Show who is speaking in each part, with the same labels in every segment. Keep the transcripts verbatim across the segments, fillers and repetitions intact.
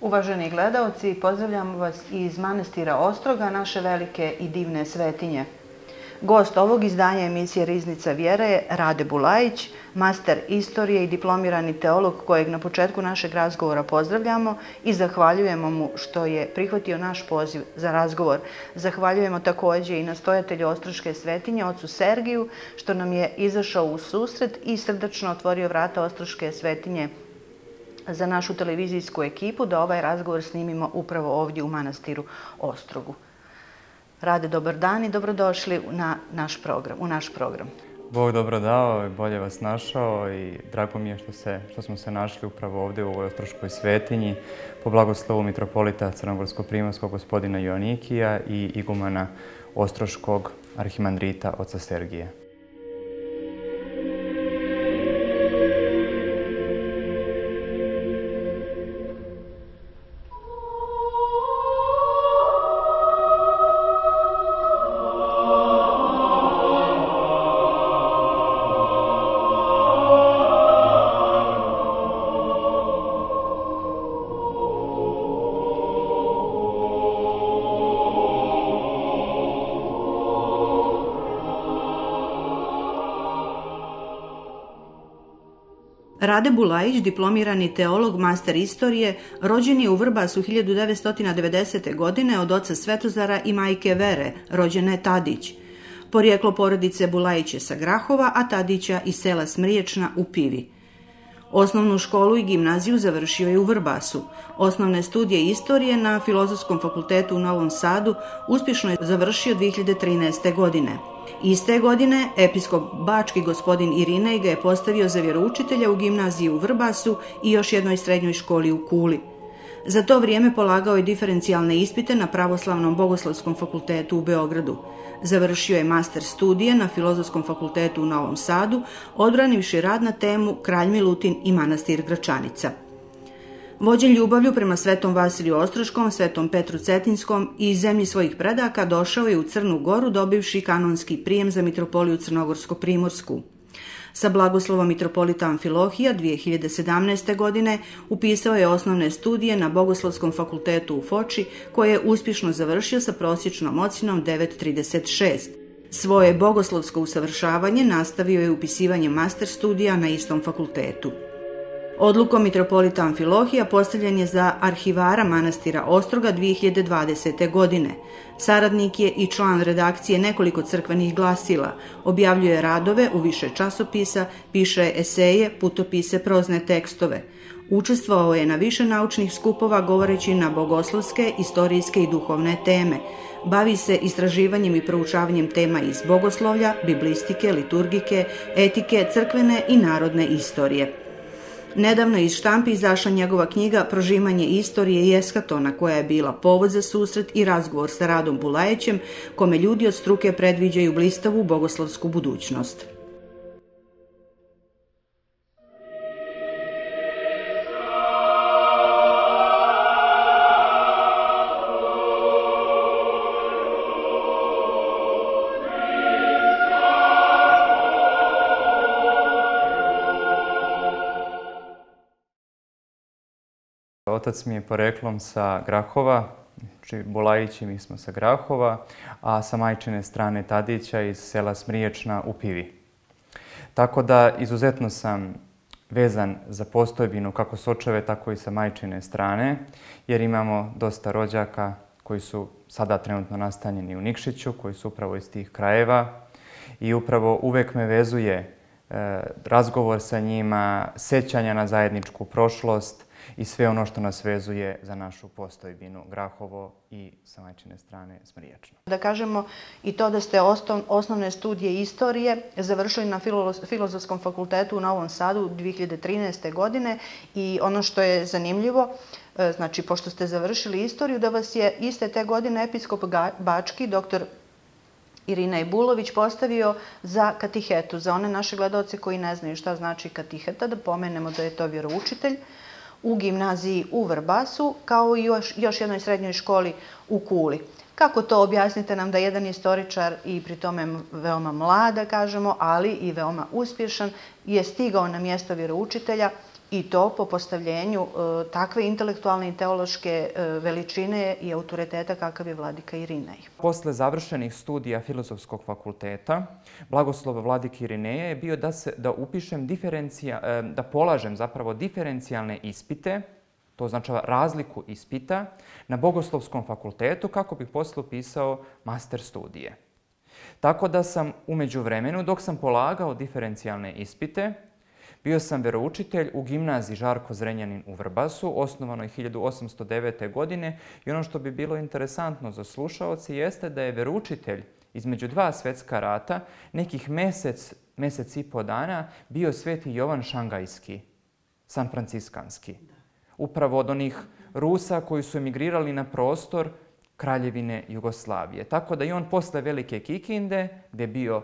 Speaker 1: Uvaženi gledaoci, pozdravljamo vas iz manastira Ostroga, naše velike i divne svetinje. Gost ovog izdanja emisije Riznica vjere je Rade Bulajić, master istorije i diplomirani teolog kojeg na početku našeg razgovora pozdravljamo i zahvaljujemo mu što je prihvatio naš poziv za razgovor. Zahvaljujemo također i nastojatelju Ostroške svetinje, ocu Sergiju, što nam je izašao u susret i srdačno otvorio vrata Ostroške svetinje za našu televizijsku ekipu da ovaj razgovor snimimo upravo ovdje u manastiru Ostrogu. Rade, dobar dan i dobrodošli na naš program, u naš program.
Speaker 2: Bog dobro dao i bolje vas našao i drago mi je što, se, što smo se našli upravo ovdje u ovoj Ostroškoj svetinji po blagoslovu mitropolita Crnogorsko-primorskog gospodina Joanikija i igumana Ostroškog arhimandrita oca Sergija.
Speaker 1: Rade Bulajić, diplomirani teolog, master istorije, rođen je u Vrbasu hiljadu devetsto devedesete. godine od oca Svetozara i majke Vere, rođene Tadić. Porijeklo porodice Bulajić je sa Grahova, a Tadića iz sela Smriječna u Pivi. Osnovnu školu i gimnaziju završio je u Vrbasu. Osnovne studije istorije na Filozofskom fakultetu u Novom Sadu uspješno je završio dvije hiljade trinaeste. godine. Iste godine episkop bački gospodin Irinej ga je postavio za vjeroučitelja u gimnaziji u Vrbasu i još jednoj srednjoj školi u Kuli. Za to vrijeme polagao je diferencijalne ispite na Pravoslavnom bogoslovskom fakultetu u Beogradu. Završio je master studije na Filozofskom fakultetu u Novom Sadu, odbranivši rad na temu Kralj Milutin i manastir Gračanica. Vođen ljubavlju prema svetom Vasiliju Ostroškom, svetom Petru Cetinskom i zemlji svojih predaka došao je u Crnu Goru dobivši kanonski prijem za mitropoliju Crnogorsko-primorsku. Sa blagoslovom mitropolita Amfilohija dvije hiljade sedamnaeste. godine upisao je osnovne studije na Bogoslovskom fakultetu u Foči, koje je uspješno završio sa prosječnom ocjenom devet zarez trideset šest. Svoje bogoslovsko usavršavanje nastavio je upisivanjem master studija na istom fakultetu. Odlukom mitropolita Amfilohija postavljen je za arhivara manastira Ostroga dvije hiljade dvadesete. godine. Saradnik je i član redakcije nekoliko crkvenih glasila, objavljuje radove u više časopisa, piše eseje, putopise, prozne tekstove. Učestvovao je na više naučnih skupova govoreći na bogoslovske, istorijske i duhovne teme. Bavi se istraživanjem i proučavanjem tema iz bogoslovlja, biblistike, liturgike, etike, crkvene i narodne istorije. Nedavno iz štampi izašla njegova knjiga Prožimanje istorije i eskatona, koja je bila povod za susret i razgovor sa Radom Bulajićem, kome ljudi od struke predviđaju blistavu bogoslovsku budućnost.
Speaker 2: Otac mi je poreklom sa Grahova, znači Bulajić i mi smo sa Grahova, a sa majčine strane Tadića iz sela Smriječna u Pivi. Tako da izuzetno sam vezan za postojbinu kako s očeve, tako i sa majčine strane, jer imamo dosta rođaka koji su sada trenutno nastanjeni u Nikšiću, koji su upravo iz tih krajeva i upravo uvek me vezuje e, razgovor sa njima, sećanja na zajedničku prošlost, i sve ono što nas vezuje za našu postojbinu Grahovo i sa majčine strane Smriječno.
Speaker 1: Da kažemo i to da ste osnovne studije istorije završili na Filozofskom fakultetu u Novom Sadu dvije hiljade trinaeste. godine i ono što je zanimljivo, znači pošto ste završili istoriju, da vas je iste te godine episkop bački, doktor Irinej Bulović, postavio za katihetu. Za one naše gledaoce koji ne znaju šta znači katiheta, da pomenemo da je to vjeroučitelj u gimnaziji u Vrbasu, kao i još, još jednoj srednjoj školi u Kuli. Kako to objasnite nam da jedan istoričar i pri tome veoma mlad, da kažemo, ali i veoma uspješan, je stigao na mjesto vjeroučitelja I to po postavljenju takve intelektualne i teološke veličine i autoriteta kakav je vladika Irinej.
Speaker 2: Posle završenih studija Filozofskog fakulteta, blagoslov vladike Irineja je bio da, se, da upišem diferencija, da polažem zapravo diferencijalne ispite, to označava razliku ispita, na Bogoslovskom fakultetu kako bih posle upisao master studije. Tako da sam u međuvremenu, dok sam polagao diferencijalne ispite, bio sam veroučitelj u gimnaziji Žarko Zrenjanin u Vrbasu, osnovanoj hiljadu osamsto devete. godine, i ono što bi bilo interesantno za slušaoce jeste da je veroučitelj između dva svetska rata nekih mesec, mesec i po dana bio sveti Jovan Šangajski, San Franciskanski. Upravo od onih Rusa koji su emigrirali na prostor Kraljevine Jugoslavije. Tako da i on posle Velike Kikinde, gde je bio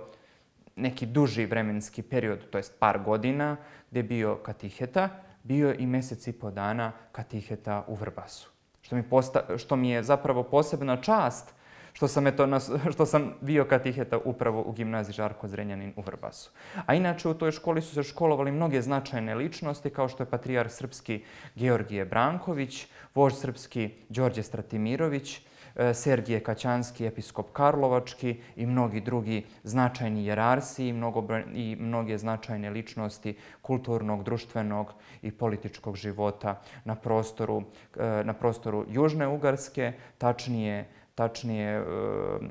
Speaker 2: neki duži vremenski period, to jest par godina, gde je bio katiheta, bio i mesec i po dana katiheta u Vrbasu. Što mi, posta, što mi je zapravo posebna čast što sam, eto, što sam bio katiheta upravo u gimnaziji Žarko Zrenjanin u Vrbasu. A inače u toj školi su se školovali mnoge značajne ličnosti, kao što je patrijarh srpski Georgije Branković, vožd srpski Đorđe Stratimirović, Sergije Kaćanski, episkop Karlovački i mnogi drugi značajni jerarsi i, mnogo, i mnoge značajne ličnosti kulturnog, društvenog i političkog života na prostoru, na prostoru Južne Ugarske, tačnije, tačnije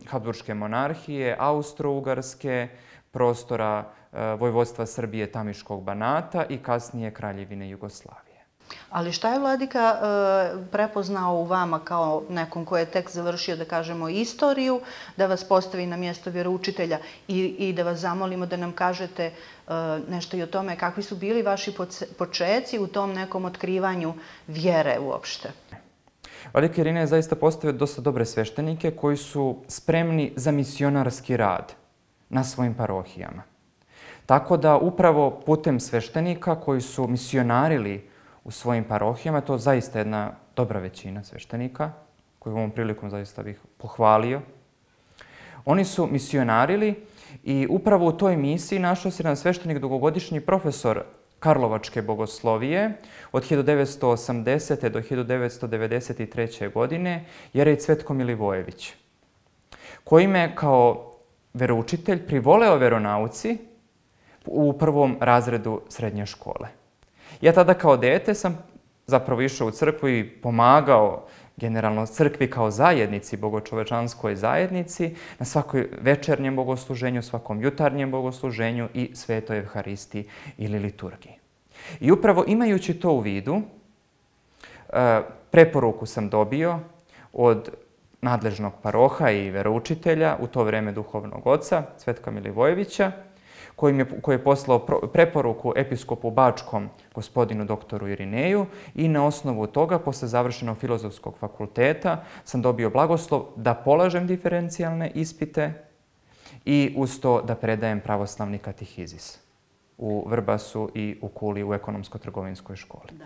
Speaker 2: Habsburške monarhije, Austro-Ugarske, prostora Vojvodstva Srbije, Tamiškog Banata i kasnije Kraljevine Jugoslavije.
Speaker 1: Ali šta je vladika prepoznao u vama kao nekom ko je tek završio, da kažemo, istoriju, da vas postavi na mjesto vjeroučitelja i, i da vas zamolimo da nam kažete nešto i o tome kakvi su bili vaši počeci u tom nekom otkrivanju vjere uopšte?
Speaker 2: Vladika Irinej je zaista postavio dosta dobre sveštenike koji su spremni za misionarski rad na svojim parohijama. Tako da upravo putem sveštenika koji su misionarili u svojim parohijama, to je zaista jedna dobra većina sveštenika, koju ovom prilikom zaista bih pohvalio. Oni su misionarili i upravo u toj misiji našao se jedan sveštenik, dugogodišnji profesor Karlovačke bogoslovije od hiljadu devetsto osamdesete. do hiljadu devetsto devedeset treće. godine, jerej Cvetko Milivojević, koji me kao veroučitelj privoleo veronauci u prvom razredu srednje škole. Ja tada kao dete sam zapravo išao u crkvu i pomagao generalno crkvi kao zajednici, bogočovečanskoj zajednici, na svakoj večernjem bogosluženju, svakom jutarnjem bogosluženju i svetoj evharistiji ili liturgiji. I upravo imajući to u vidu, preporuku sam dobio od nadležnog paroha i veroučitelja, u to vreme duhovnog oca, Cvetka Milivojevića, koji je, koji je poslao preporuku episkopu Bačkom, gospodinu doktoru Irineju, i na osnovu toga, posle završenog Filozofskog fakulteta, sam dobio blagoslov da polažem diferencijalne ispite i uz to da predajem pravoslavni katehizis u Vrbasu i u Kuli u ekonomsko-trgovinskoj školi. Da.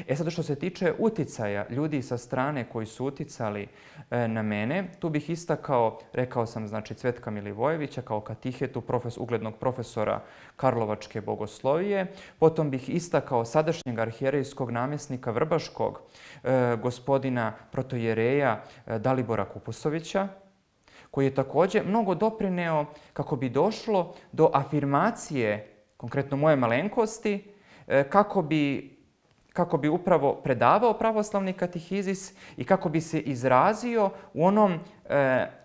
Speaker 2: E sad, što se tiče uticaja ljudi sa strane koji su uticali e, na mene, tu bih istakao, rekao sam, znači, Cvetka Milivojevića kao katihetu, profes, uglednog profesora Karlovačke bogoslovije. Potom bih istakao sadašnjeg arhijerejskog namjesnika Vrbaškog, e, gospodina protojereja e, Dalibora Kupusovića, koji je također mnogo doprineo kako bi došlo do afirmacije, konkretno moje malenkosti, kako bi, kako bi upravo predavao pravoslavni katehizis i kako bi se izrazio u onom,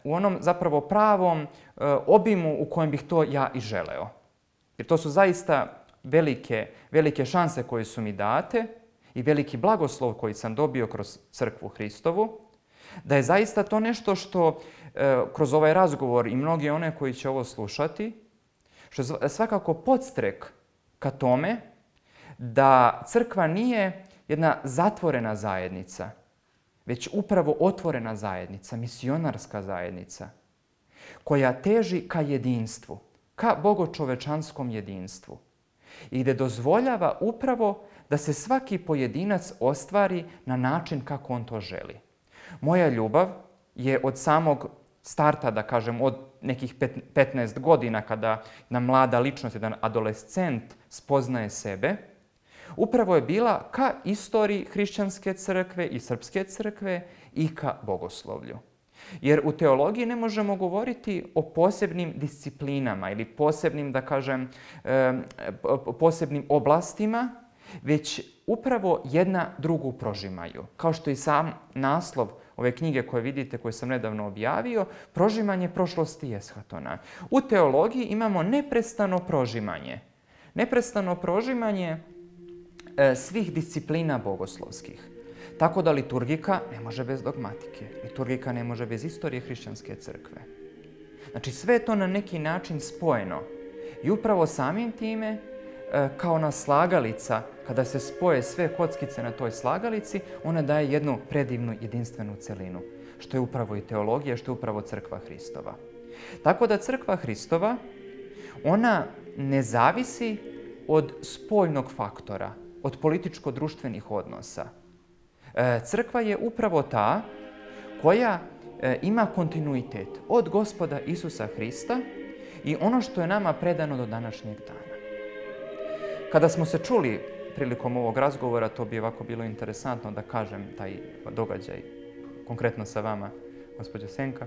Speaker 2: u onom zapravo pravom obimu u kojem bih to ja i želeo. Jer to su zaista velike, velike šanse koje su mi date i veliki blagoslov koji sam dobio kroz crkvu Hristovu, da je zaista to nešto što kroz ovaj razgovor i mnogi one koji će ovo slušati, što je svakako podstrek ka tome da crkva nije jedna zatvorena zajednica, već upravo otvorena zajednica, misionarska zajednica, koja teži ka jedinstvu, ka bogočovečanskom jedinstvu i gde dozvoljava upravo da se svaki pojedinac ostvari na način kako on to želi. Moja ljubav je od samog starta, da kažem, od nekih petnaest godina, kada jedna mlada ličnost, jedan adolescent spoznaje sebe, upravo je bila ka istoriji hrišćanske crkve i srpske crkve i ka bogoslovlju. Jer u teologiji ne možemo govoriti o posebnim disciplinama ili posebnim, da kažem, posebnim oblastima, već upravo jedna drugu prožimaju. Kao što i sam naslov ove knjige koje vidite, koje sam nedavno objavio, prožimanje prošlosti i eshatona. U teologiji imamo neprestano prožimanje. Neprestano prožimanje e, svih disciplina bogoslovskih. Tako da liturgika ne može bez dogmatike. Liturgika ne može bez istorije hrišćanske crkve. Znači sve je to na neki način spojeno. I upravo samim time, e, kao na slagalica, kada se spoje sve kockice na toj slagalici, ona daje jednu predivnu jedinstvenu celinu. Što je upravo i teologija, što je upravo crkva Hristova. Tako da crkva Hristova, ona ne zavisi od spoljnog faktora, od političko-društvenih odnosa. Crkva je upravo ta koja ima kontinuitet od Gospoda Isusa Hrista i ono što je nama predano do današnjeg dana. Kada smo se čuli prilikom ovog razgovora, to bi ovako bilo interesantno da kažem taj događaj, konkretno sa vama, gospođo Senka.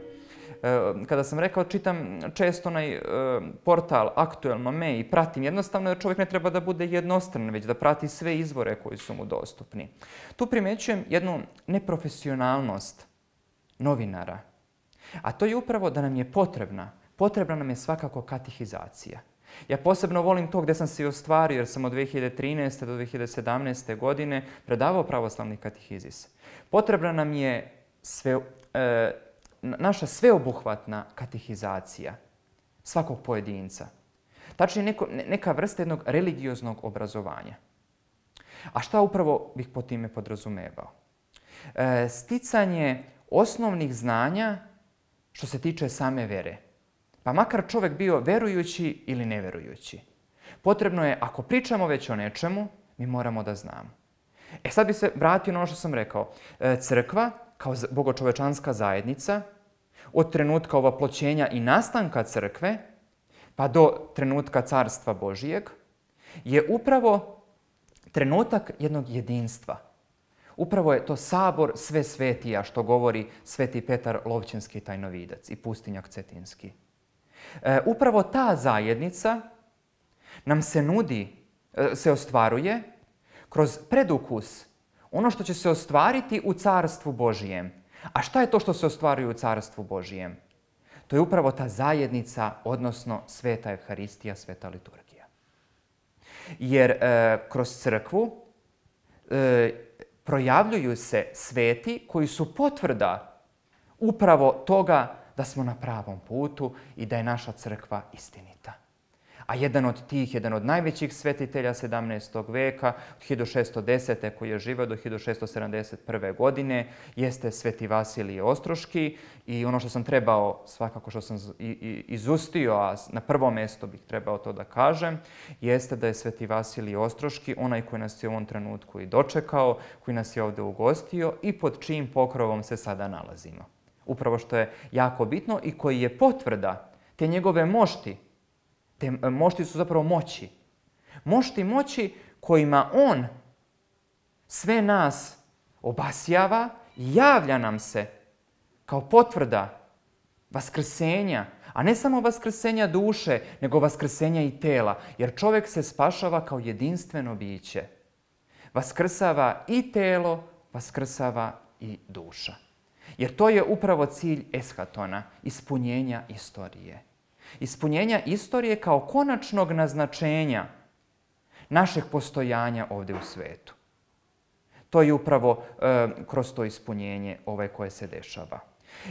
Speaker 2: Kada sam rekao, čitam često onaj portal Aktuelno me i pratim, jednostavno da čovjek ne treba da bude jednostran, već da prati sve izvore koji su mu dostupni. Tu primećujem jednu neprofesionalnost novinara, a to je upravo da nam je potrebna, potrebna nam je svakako katehizacija. Ja posebno volim to gdje sam se i ostvario, jer sam od dve hiljade trinaeste do dve hiljade sedamnaeste. godine predavao pravoslavni katehizis. Potrebna nam je sve, e, naša sveobuhvatna katehizacija svakog pojedinca. Tačnije neko, neka vrsta jednog religioznog obrazovanja. A šta upravo bih po time podrazumevao? E, sticanje osnovnih znanja što se tiče same vere. Pa makar čovjek bio verujući ili neverujući. Potrebno je, ako pričamo već o nečemu, mi moramo da znamo. E sad bi se vratio na ono što sam rekao. E, crkva, kao bogočovečanska zajednica, od trenutka ovaploćenja i nastanka crkve, pa do trenutka Carstva Božijeg, je upravo trenutak jednog jedinstva. Upravo je to sabor sve svetija, što govori sveti Petar Lovćenski tajnovidac i pustinjak Cetinski. E, upravo ta zajednica nam se nudi, se ostvaruje kroz predukus, ono što će se ostvariti u Carstvu Božijem. A šta je to što se ostvaruje u Carstvu Božijem? To je upravo ta zajednica, odnosno sveta Evharistija, sveta liturgija. Jer e, kroz crkvu e, projavljuju se sveti koji su potvrda upravo toga da smo na pravom putu i da je naša crkva istinita. A jedan od tih, jedan od najvećih svetitelja sedamnaestog veka, od hiljadu šesto desete. koji je živio do hiljadu šesto sedamdeset prve. godine, jeste sveti Vasilije Ostroški. I ono što sam trebao, svakako što sam izustio, a na prvo mjesto bih trebao to da kažem, jeste da je sveti Vasilije Ostroški onaj koji nas je u ovom trenutku i dočekao, koji nas je ovdje ugostio i pod čijim pokrovom se sada nalazimo. Upravo što je jako bitno i koji je potvrda te njegove mošti. Te mošti su zapravo moći. Mošti moći kojima on sve nas obasjava i javlja nam se kao potvrda vaskrsenja, a ne samo vaskrsenja duše, nego vaskrsenja i tela, jer čovjek se spašava kao jedinstveno biće. Vaskrsava i telo, vaskrsava i duša. Jer to je upravo cilj eshatona, ispunjenja istorije. Ispunjenja istorije kao konačnog naznačenja našeg postojanja ovdje u svetu. To je upravo e, kroz to ispunjenje ovaj koje se dešava.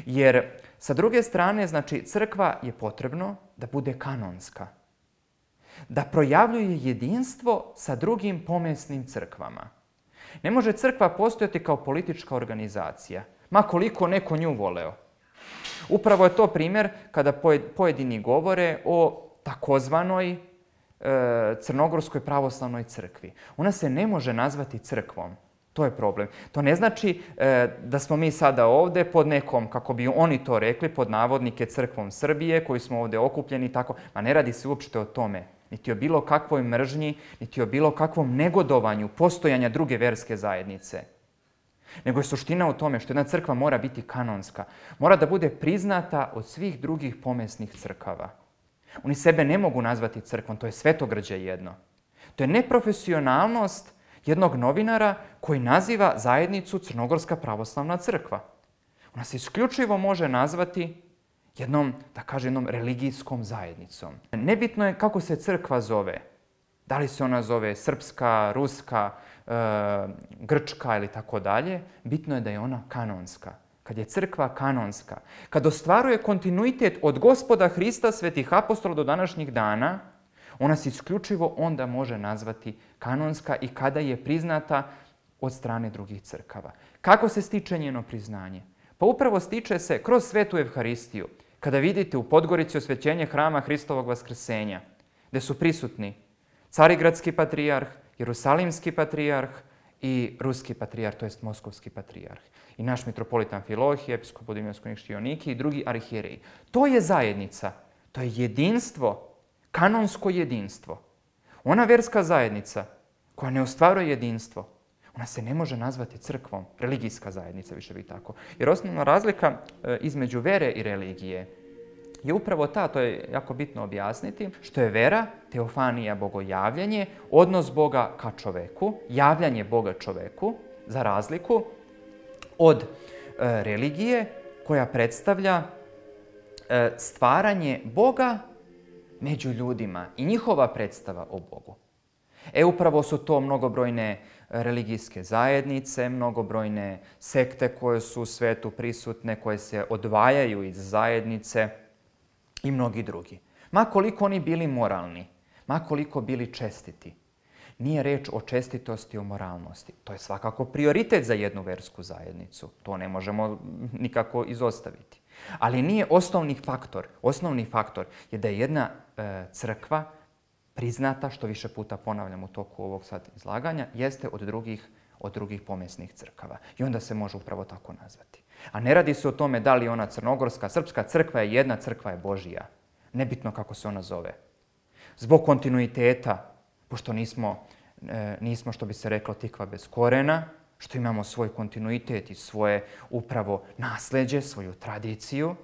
Speaker 2: Jer sa druge strane, znači, crkva je potrebno da bude kanonska. Da projavljuje jedinstvo sa drugim pomesnim crkvama. Ne može crkva postojati kao politička organizacija, ma koliko neko nju voleo. Upravo je to primjer kada pojedini govore o takozvanoj e, Crnogorskoj pravoslavnoj crkvi. Ona se ne može nazvati crkvom. To je problem. To ne znači e, da smo mi sada ovdje pod nekom, kako bi oni to rekli, pod navodnike crkvom Srbije, koji smo ovdje okupljeni i tako. Ma ne radi se uopšte o tome. niti o bilo kakvoj mržnji, niti o bilo kakvom negodovanju postojanja druge verske zajednice. Nego je suština u tome što jedna crkva mora biti kanonska. Mora da bude priznata od svih drugih pomesnih crkava. Oni sebe ne mogu nazvati crkvom, to je svetogrđe jedno. To je neprofesionalnost jednog novinara koji naziva zajednicu Crnogorska pravoslavna crkva. Ona se isključivo može nazvati jednom, da kaže, jednom religijskom zajednicom. Nebitno je kako se crkva zove. Da li se ona zove srpska, ruska, e, grčka ili tako dalje. Bitno je da je ona kanonska. Kad je crkva kanonska, kad ostvaruje kontinuitet od Gospoda Hrista, svetih apostola do današnjih dana, ona se isključivo onda može nazvati kanonska i kada je priznata od strane drugih crkava. Kako se stiče njeno priznanje? Pa upravo stiče se kroz svetu Evharistiju. Kada vidite u Podgorici osvećenje hrama Hristovog vaskrsenja, gde su prisutni Carigradski patrijarh, Jerusalimski patrijarh i Ruski patrijarh, to jest Moskovski patrijarh. I naš mitropolitan Amfilohije, episkop Budimljansko-Niški Joannikij i drugi arhijereji. To je zajednica, to je jedinstvo, kanonsko jedinstvo. Ona verska zajednica koja ne ostvaruje jedinstvo, ona se ne može nazvati crkvom, religijska zajednica, više bi tako. Jer osnovna razlika između vere i religije je upravo ta, to je jako bitno objasniti, što je vera, teofanija, bogojavljanje, odnos Boga ka čoveku, javljanje Boga čoveku, za razliku od e, religije koja predstavlja e, stvaranje Boga među ljudima i njihova predstava o Bogu. E upravo su to mnogobrojne religijske zajednice, mnogobrojne sekte koje su u svetu prisutne, koje se odvajaju iz zajednice i mnogi drugi. Ma koliko oni bili moralni, ma koliko bili čestiti, nije reč o čestitosti, o moralnosti. To je svakako prioritet za jednu versku zajednicu. To ne možemo nikako izostaviti. Ali nije osnovni faktor. Osnovni faktor je da je jedna e, crkva priznata, što više puta ponavljam u toku ovog sad izlaganja, jeste od drugih, od drugih pomesnih crkava. I onda se može upravo tako nazvati. A ne radi se o tome da li ona crnogorska, srpska crkva je jedna, crkva je Božija. Nebitno kako se ona zove. Zbog kontinuiteta, pošto nismo, e, nismo, što bi se reklo, tikva bez korena, što imamo svoj kontinuitet i svoje upravo nasleđe, svoju tradiciju,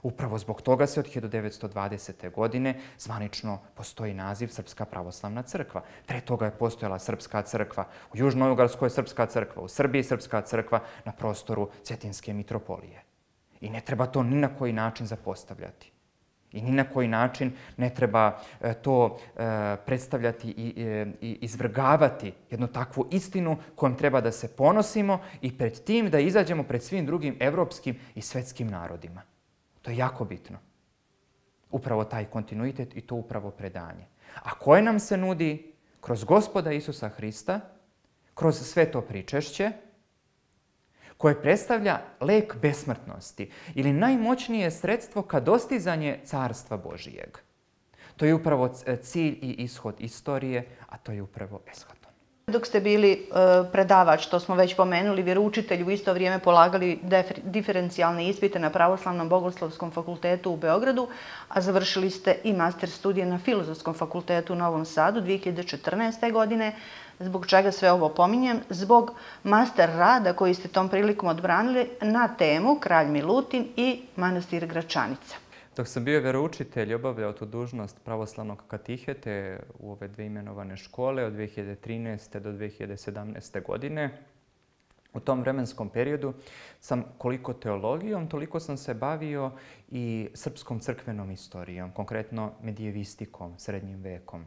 Speaker 2: upravo zbog toga se od hiljadu devetsto dvadesete. godine zvanično postoji naziv Srpska pravoslavna crkva. Pre toga je postojala Srpska crkva, u Južnoj Ugarskoj Srpska crkva, u Srbiji Srpska crkva, na prostoru Cetinske mitropolije. I ne treba to ni na koji način zapostavljati. I ni na koji način ne treba to predstavljati i izvrgavati jednu takvu istinu kojom treba da se ponosimo i pred tim da izađemo pred svim drugim evropskim i svetskim narodima. To je jako bitno. Upravo taj kontinuitet i to upravo predanje. A koje nam se nudi kroz Gospoda Isusa Hrista, kroz sveto pričešće, koje predstavlja lek besmrtnosti ili najmoćnije sredstvo ka dostizanje Carstva Božijeg. To je upravo cilj i ishod istorije, a to je upravo eschaton.
Speaker 1: Dok ste bili predavač, to smo već pomenuli, vjeroučitelj, u isto vrijeme polagali diferencijalne ispite na Pravoslavnom bogoslovskom fakultetu u Beogradu, a završili ste i master studije na Filozofskom fakultetu u Novom Sadu dvije hiljade četrnaeste. godine. Zbog čega sve ovo pominjem? Zbog master rada koji ste tom prilikom odbranili na temu Kralj Milutin i manastir Gračanica.
Speaker 2: Dok sam bio vjeroučitelj i obavljao tu dužnost pravoslavnog katihete u ove dve imenovane škole od dvije hiljade trinaeste. do dvije hiljade sedamnaeste. godine, u tom vremenskom periodu sam koliko teologijom, toliko sam se bavio i srpskom crkvenom istorijom, konkretno medijevistikom, srednjim vekom.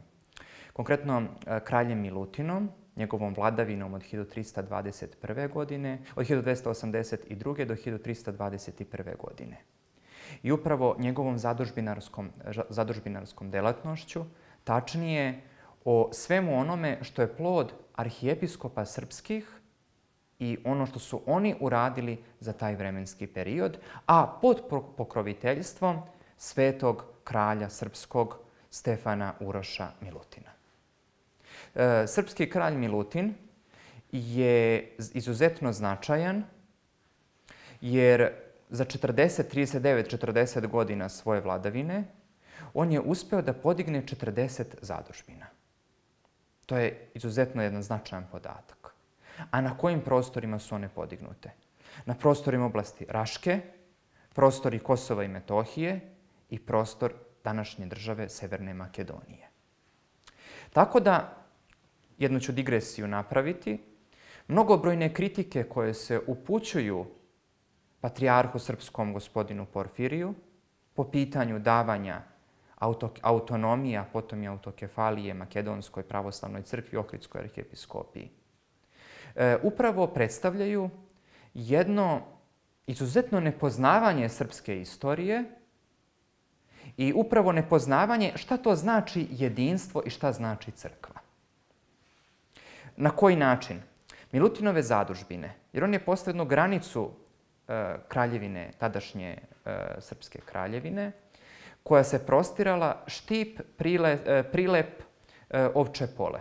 Speaker 2: Konkretno kraljem Milutinom, njegovom vladavinom od hiljadu trista dvadeset prve. godine, od hiljadu dvesta osamdeset druge. do hiljadu trista dvadeset prve. godine. I upravo njegovom zadužbinarskom, zadužbinarskom delatnošću, tačnije o svemu onome što je plod arhijepiskopa srpskih i ono što su oni uradili za taj vremenski period, a pod pokroviteljstvom svetog kralja srpskog Stefana Uroša Milutina. E, srpski kralj Milutin je izuzetno značajan jer za četrdeset, trideset devet, četrdeset godina svoje vladavine on je uspeo da podigne četrdeset zadužbina. To je izuzetno jedan značajan podatak. A na kojim prostorima su one podignute? Na prostorima oblasti Raške, prostori Kosova i Metohije i prostor današnje države Severne Makedonije. Tako da, jednu ću digresiju napraviti, mnogobrojne kritike koje se upućuju patrijarhu srpskom gospodinu Porfiriju po pitanju davanja auto, autonomija, potom i autokefalije Makedonskoj pravoslavnoj crkvi, Ohridskoj arhijepiskopiji, e, upravo predstavljaju jedno izuzetno nepoznavanje srpske istorije i upravo nepoznavanje šta to znači jedinstvo i šta znači crkva. Na koji način? Milutinove zadužbine, jer on je postavio jednu granicu e, kraljevine, tadašnje e, srpske kraljevine, koja se prostirala štip, prile, e, prilep, e, ovče pole.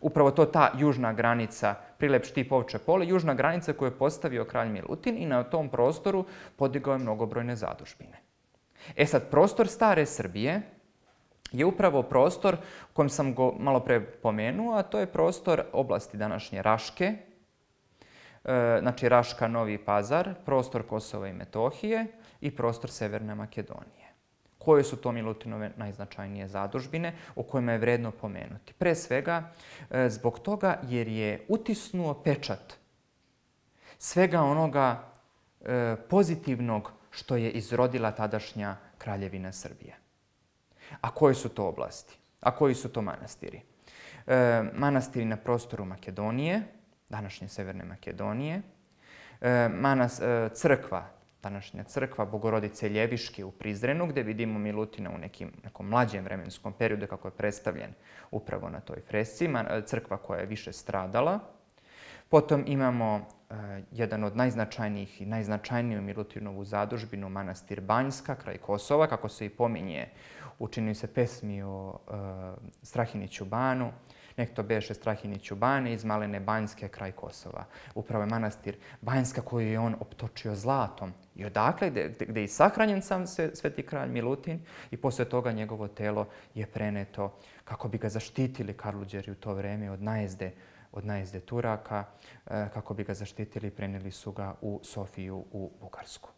Speaker 2: Upravo to ta južna granica, prilep, štip, ovče pole, južna granica koju je postavio kralj Milutin i na tom prostoru podigao je mnogobrojne zadužbine. E sad, prostor stare Srbije je upravo prostor u kojem sam go malo pre pomenuo, a to je prostor oblasti današnje Raške, e, znači Raška, Novi Pazar, prostor Kosova i Metohije i prostor Severne Makedonije. Koje su to Milutinove najznačajnije zadužbine o kojima je vredno pomenuti? Pre svega e, zbog toga jer je utisnuo pečat svega onoga e, pozitivnog što je izrodila tadašnja kraljevina Srbije. A koje su to oblasti? A koji su to manastiri? E, manastiri na prostoru Makedonije, današnje Severne Makedonije, e, manas, e, crkva, današnja crkva Bogorodice Ljeviške u Prizrenu, gdje vidimo Milutina u nekim, nekom mlađem vremenskom periodu kako je predstavljen upravo na toj fresci, crkva koja je više stradala. Potom imamo e, jedan od najznačajnijih i najznačajniju Milutinovu zadužbinu, manastir Banjska, kraj Kosova, kako se i pominje u čini se pesmi o e, Strahiniću banu. Nek to beše Strahiniću bane iz Malene Banjske, kraj Kosova. Upravo je manastir Banjska koju je on optočio zlatom. I odakle, gde, gde je i sahranjen sam sveti kralj Milutin i posle toga njegovo telo je preneto kako bi ga zaštitili Karluđeri u to vreme od najezde od najezde Turaka, kako bi ga zaštitili, prenijeli su ga u Sofiju u Bugarsku.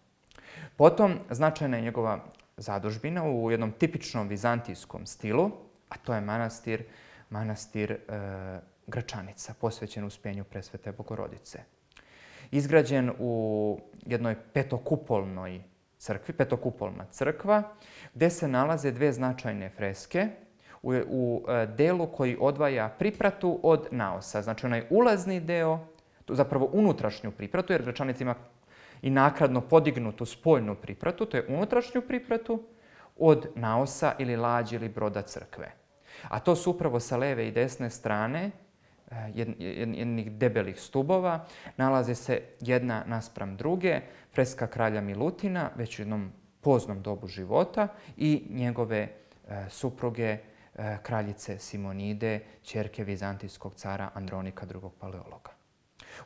Speaker 2: Potom, značajna je njegova zadužbina u jednom tipičnom vizantijskom stilu, a to je manastir, manastir e, Gračanica, posvećen Uspenju Presvete Bogorodice. Izgrađen u jednoj petokupolnoj crkvi, petokupolna crkva, gdje se nalaze dve značajne freske, u, u delu koji odvaja pripratu od naosa. Znači onaj ulazni deo, zapravo unutrašnju pripratu, jer Gračanica ima i nakladno podignutu spoljnu pripratu, to je unutrašnju pripratu od naosa ili lađi ili broda crkve. A to su upravo sa leve i desne strane jednih debelih stubova, nalaze se jedna naspram druge, freska kralja Milutina, već u jednom poznom dobu života, i njegove supruge, kraljice Simonide, ćerke vizantijskog cara Andronika drugog Paleologa.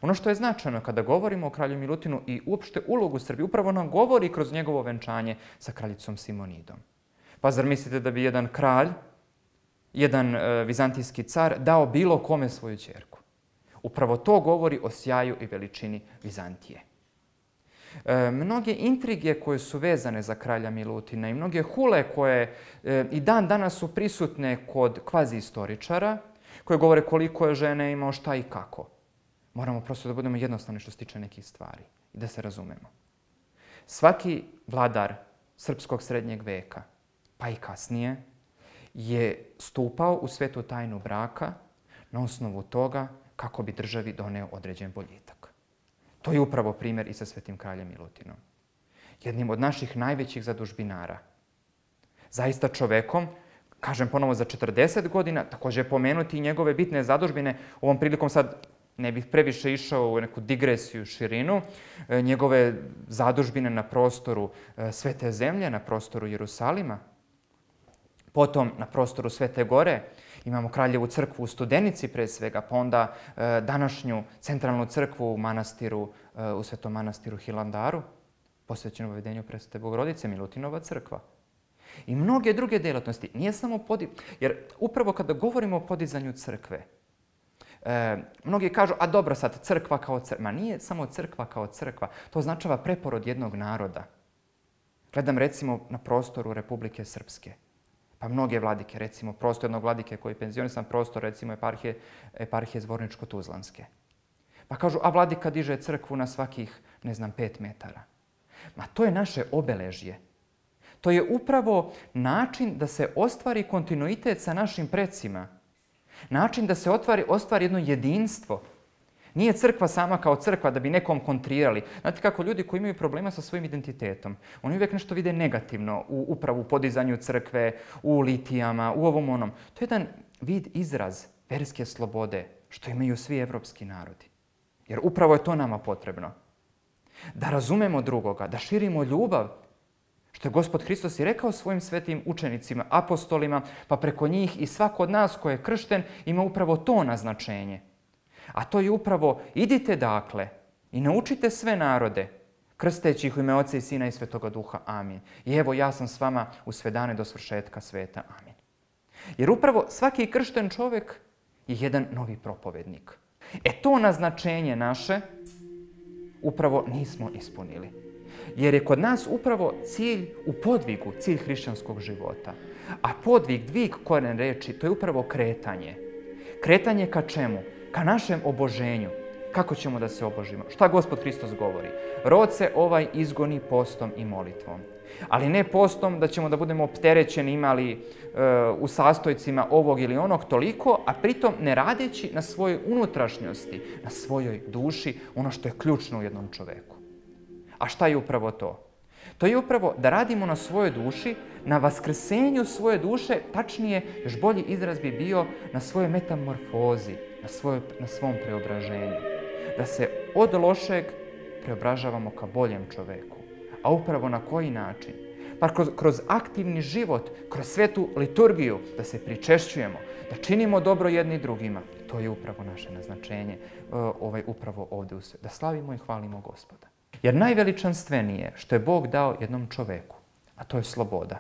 Speaker 2: Ono što je značajno kada govorimo o kralju Milutinu i uopšte ulogu Srbije, upravo nam govori kroz njegovo venčanje sa kraljicom Simonidom. Pa zar mislite da bi jedan kralj, jedan e, vizantijski car dao bilo kome svoju ćerku? Upravo to govori o sjaju i veličini Vizantije. E, mnoge intrige koje su vezane za kralja Milutina i mnoge hule koje e, i dan danas su prisutne kod kvazi istoričara, koje govore koliko je žene imao, šta i kako. Moramo prosto da budemo jednostavni što se tiče nekih stvari i da se razumemo. Svaki vladar srpskog srednjeg veka, pa i kasnije, je stupao u svetu tajnu braka na osnovu toga kako bi državi doneo određen boljitak. To je upravo primjer i sa svetim kraljem Milutinom. Jednim od naših najvećih zadužbinara. Zaista čovekom, kažem ponovo za četrdeset godina, također pomenuti i njegove bitne zadužbine. Ovom prilikom sad ne bih previše išao u neku digresiju, širinu. Njegove zadužbine na prostoru Svete zemlje, na prostoru Jerusalima. Potom na prostoru Svete gore imamo Kraljevu crkvu u Studenici pre svega, pa onda e, današnju centralnu crkvu u manastiru, e, u Svetom manastiru Hilandaru, posvećenu uvedenju Presvete Bogorodice, Milutinova crkva. I mnoge druge djelatnosti. Nije samo podi... Jer upravo kada govorimo o podizanju crkve, e, mnogi kažu, a dobro sad, crkva kao crkva. Ma nije samo crkva kao crkva. To označava preporod jednog naroda. Gledam recimo na prostoru Republike Srpske. Pa mnoge vladike, recimo prostor jednog vladike koji je penzionisan, prostor recimo eparhije, eparhije Zvorničko-Tuzlanske. Pa kažu, a vladika diže crkvu na svakih, ne znam, pet metara. Ma to je naše obeležje. To je upravo način da se ostvari kontinuitet sa našim precima. Način da se ostvari, ostvari jedno jedinstvo. Nije crkva sama kao crkva da bi nekom kontrirali. Znate kako ljudi koji imaju problema sa svojim identitetom, oni uvijek nešto vide negativno u upravu u podizanju crkve, u litijama, u ovom onom. To je jedan vid, izraz verske slobode što imaju svi evropski narodi. Jer upravo je to nama potrebno. Da razumemo drugoga, da širimo ljubav. Što je Gospod Hristos i rekao svojim svetim učenicima, apostolima, pa preko njih i svako od nas ko je kršten ima upravo to naznačenje. A to je upravo, idite dakle i naučite sve narode, krsteći ih u ime Oca i Sina i Svetoga Duha. Amin. I evo ja sam s vama u sve dane do svršetka sveta. Amin. Jer upravo svaki kršten čovjek je jedan novi propovednik. E to naznačenje naše upravo nismo ispunili. Jer je kod nas upravo cilj u podvigu, cilj hrišćanskog života. A podvig, dvig koren reči, to je upravo kretanje. Kretanje ka čemu? Ka našem oboženju. Kako ćemo da se obožimo? Šta Gospod Hristos govori? Rod se ovaj izgoni postom i molitvom. Ali ne postom da ćemo da budemo opterećeni, imali e, u sastojcima ovog ili onog toliko, a pritom ne radeći na svojoj unutrašnjosti, na svojoj duši, ono što je ključno u jednom čoveku. A šta je upravo to? To je upravo da radimo na svojoj duši, na vaskrsenju svoje duše, tačnije, još bolji izraz bi bio na svojoj metamorfozi, na, svoj, na svom preobraženju. Da se od lošeg preobražavamo ka boljem čoveku. A upravo na koji način? Pa kroz, kroz aktivni život, kroz svetu liturgiju, da se pričešćujemo, da činimo dobro jedni drugima. To je upravo naše naznačenje, ovaj, upravo ovdje u svetu. Da slavimo i hvalimo Gospoda. Jer najveličanstvenije što je Bog dao jednom čoveku, a to je sloboda.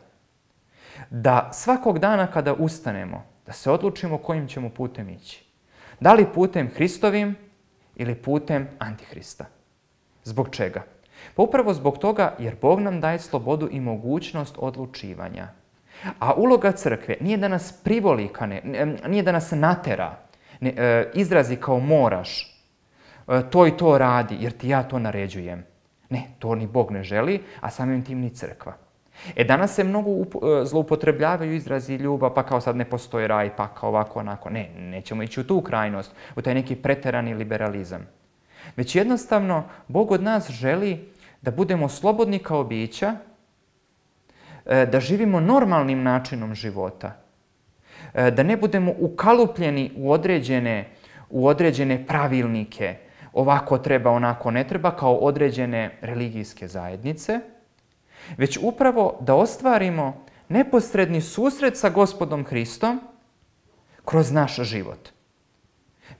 Speaker 2: Da svakog dana kada ustanemo, da se odlučimo kojim ćemo putem ići. Da li putem Hristovim ili putem Antihrista. Zbog čega? Pa upravo zbog toga jer Bog nam daje slobodu i mogućnost odlučivanja. A uloga crkve nije da nas privolikane, nije da nas natera, ne, e, izrazi kao moraš, e, to i to radi jer ti ja to naređujem. Ne, to ni Bog ne želi, a samim tim ni crkva. E danas se mnogo up, zloupotrebljavaju izrazi ljubav, pa kao sad ne postoji raj, pa kao ovako, onako. Ne, nećemo ići u tu krajnost, u taj neki preterani liberalizam. Već jednostavno, Bog od nas želi da budemo slobodni kao bića, da živimo normalnim načinom života, da ne budemo ukalupljeni u određene, u određene pravilnike, ovako treba, onako ne treba, kao određene religijske zajednice, već upravo da ostvarimo neposredni susret sa Gospodom Hristom kroz naš život.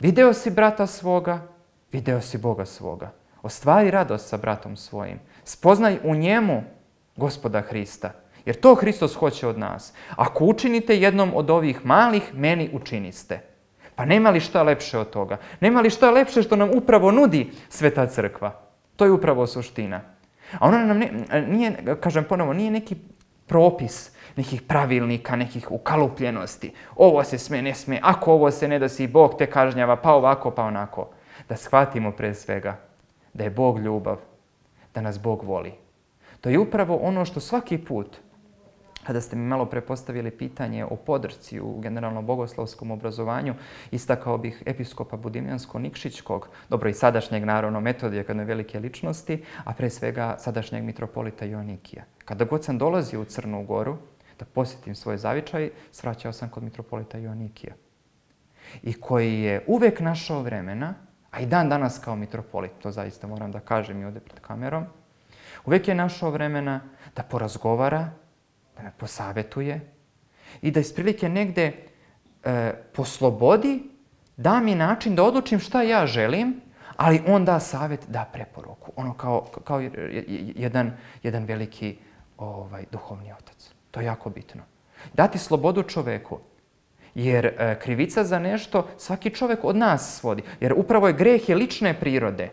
Speaker 2: Video si brata svoga, video si Boga svoga. Ostvari radost sa bratom svojim. Spoznaj u njemu Gospoda Hrista. Jer to Hristos hoće od nas. Ako učinite jednom od ovih malih, meni učiniste. Pa nema li šta lepše od toga? Nema li šta lepše što nam upravo nudi Sveta Crkva? To je upravo suština. A ona nam ne, nije, kažem ponovo, nije neki propis, nekih pravilnika, nekih ukalupljenosti. Ovo se sme, ne sme, ako ovo se ne da si Bog te kažnjava, pa ovako, pa onako. Da shvatimo pre svega da je Bog ljubav, da nas Bog voli. To je upravo ono što svaki put, kada ste mi malo prepostavili pitanje o podršci u generalno bogoslovskom obrazovanju, istakao bih episkopa Budimljansko-Nikšićkog, dobro i sadašnjeg naravno Metodija, kad ne velike ličnosti, a pre svega sadašnjeg mitropolita Joanikija. Kada god sam dolazio u Crnu Goru da posjetim svoj zavičaj, svraćao sam kod mitropolita Joanikija. I koji je uvek našao vremena, a i dan danas kao mitropolit, to zaista moram da kažem i ovdje pred kamerom, uvek je našao vremena da porazgovara, da me posavetuje i da iz prilike negde e, poslobodi, da mi način da odlučim šta ja želim, ali on da savjet, da preporuku. Ono kao, kao jedan, jedan veliki ovaj, duhovni otac. To je jako bitno. Dati slobodu čoveku. Jer e, krivica za nešto svaki čovjek od nas svodi. Jer upravo je greh je lične prirode.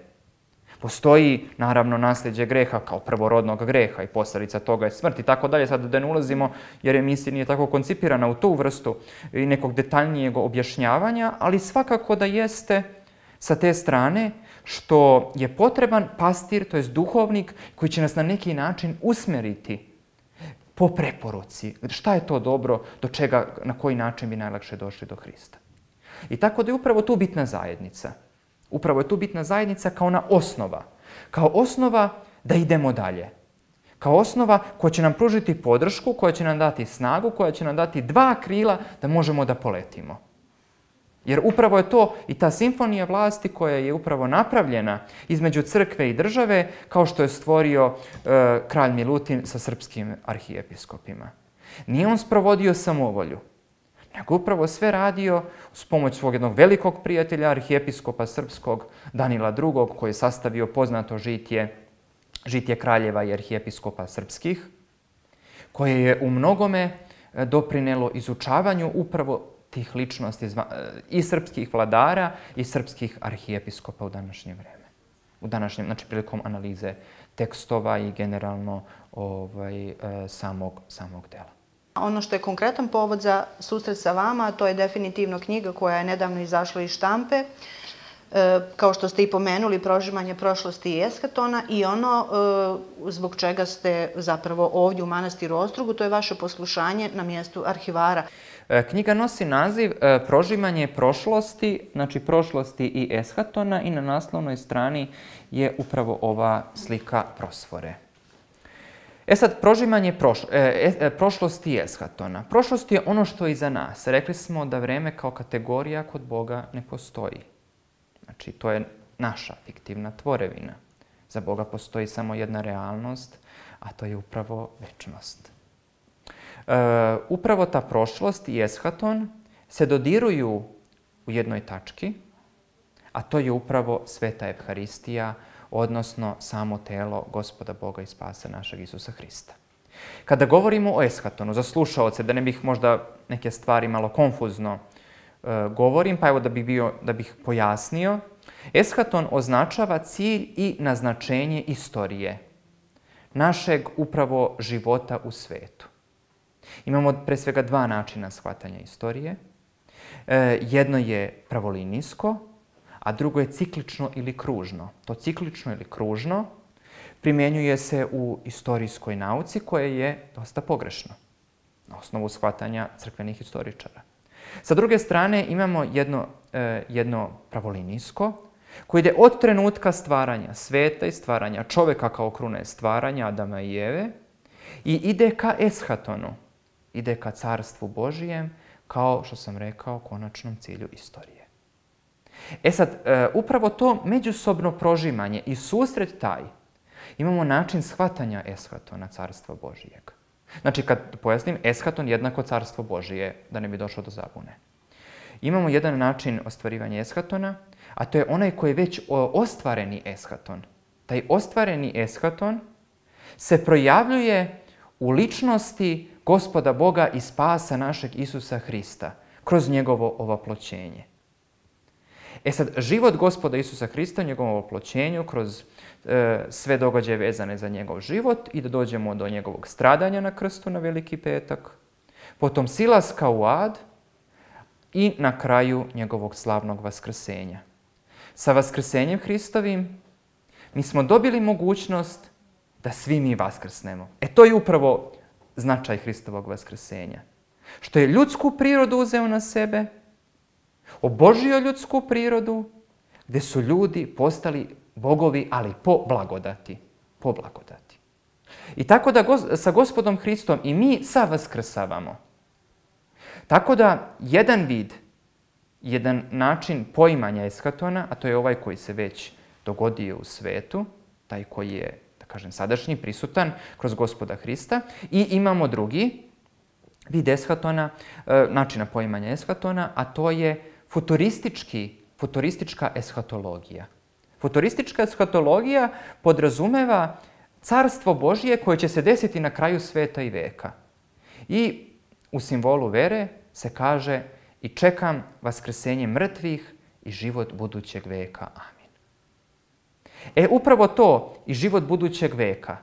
Speaker 2: Postoji, naravno, nasljeđe greha kao prvorodnog greha i posljedica toga je smrt i tako dalje. Sad da ne ulazimo, jer emisija nije tako koncipirana u tu vrstu i nekog detaljnijeg objašnjavanja, ali svakako da jeste sa te strane što je potreban pastir, to jest duhovnik, koji će nas na neki način usmeriti po preporuci. Šta je to dobro, do čega, na koji način bi najlakše došli do Hrista. I tako da je upravo tu bitna zajednica. Upravo je tu bitna zajednica kao ona osnova. Kao osnova da idemo dalje. Kao osnova koja će nam pružiti podršku, koja će nam dati snagu, koja će nam dati dva krila da možemo da poletimo. Jer upravo je to i ta simfonija vlasti koja je upravo napravljena između crkve i države, kao što je stvorio e, kralj Milutin sa srpskim arhijepiskopima. Nije on sprovodio samovolju, nego upravo sve radio s pomoć svog jednog velikog prijatelja, arhijepiskopa srpskog Danila drugog, koji je sastavio poznato žitje, žitje kraljeva i arhijepiskopa srpskih, koje je u mnogome doprinelo izučavanju upravo tih ličnosti i srpskih vladara i srpskih arhijepiskopa u današnje vreme. U današnjem, znači prilikom analize tekstova i generalno ovaj, samog, samog dela.
Speaker 1: Ono što je konkretan povod za susret sa vama, to je definitivno knjiga koja je nedavno izašla iz štampe, e, kao što ste i pomenuli, Prožimanje prošlosti i eskatona, i ono e, zbog čega ste zapravo ovdje u manastiru Ostrugu, to je vaše poslušanje na mjestu arhivara.
Speaker 2: Knjiga nosi naziv e, Prožimanje prošlosti, znači prošlosti i eskatona, i na naslovnoj strani je upravo ova slika prosfore. E sad, prožimanje proš, e, e, prošlosti i eskatona. Prošlost je ono što je iza nas. Rekli smo da vreme kao kategorija kod Boga ne postoji. Znači, to je naša fiktivna tvorevina. Za Boga postoji samo jedna realnost, a to je upravo večnost. E, upravo ta prošlost i eshaton se dodiruju u jednoj tački, a to je upravo Sveta Evharistija, odnosno samo telo Gospoda Boga i Spasa našeg Isusa Hrista. Kada govorimo o eshatonu, za slušaoce, da ne bih možda neke stvari malo konfuzno e, govorim, pa evo da bih, bio, da bih pojasnio, eshaton označava cilj i naznačenje istorije, našeg upravo života u svetu. Imamo pre svega dva načina shvatanja istorije. E, jedno je pravolinijsko, a drugo je ciklično ili kružno. To ciklično ili kružno primjenjuje se u istorijskoj nauci, koje je dosta pogrešno na osnovu shvatanja crkvenih historičara. Sa druge strane imamo jedno, e, jedno pravolinijsko, koje ide od trenutka stvaranja sveta i stvaranja čoveka kao krune stvaranja Adama i Eve i ide ka eshatonu, ide ka carstvu Božijem, kao što sam rekao, konačnom cilju istorije. E sad, e, upravo to međusobno prožimanje i susret taj, imamo način shvatanja eshatona, carstva Božijeg. Znači, kad pojasnim, eshaton jednako carstvo Božije, da ne bi došlo do zabune. Imamo jedan način ostvarivanja eshatona, a to je onaj koji je već ostvareni eshaton. Taj ostvareni eshaton se projavljuje u ličnosti Gospoda Boga i Spasa našeg Isusa Hrista, kroz njegovo ovoploćenje. E sad, život Gospoda Isusa Hrista, njegovom ovoploćenju, kroz e, sve događaje vezane za njegov život i da dođemo do njegovog stradanja na krstu na Veliki petak, potom silaska u ad i na kraju njegovog slavnog vaskrsenja. Sa vaskrsenjem Hristovim mi smo dobili mogućnost da svi mi vaskrsnemo. E to je upravo značaj Hristovog vaskrsenja. Što je ljudsku prirodu uzeo na sebe, obožio ljudsku prirodu, gdje su ljudi postali bogovi, ali po blagodati. Po blagodati. I tako da go, sa Gospodom Hristom i mi savaskrsavamo. Tako da jedan vid, jedan način poimanja eshatona, a to je ovaj koji se već dogodio u svetu, taj koji je, da kažem, sadašnji, prisutan kroz Gospoda Hrista, i imamo drugi vid eshatona, načina poimanja eshatona, a to je futuristički, futuristička eshatologija. Futuristička eshatologija podrazumeva carstvo Božije koje će se desiti na kraju sveta i veka. I u simbolu vere se kaže i čekam vaskrsenje mrtvih i život budućeg veka. Amin. E, upravo to i život budućeg veka.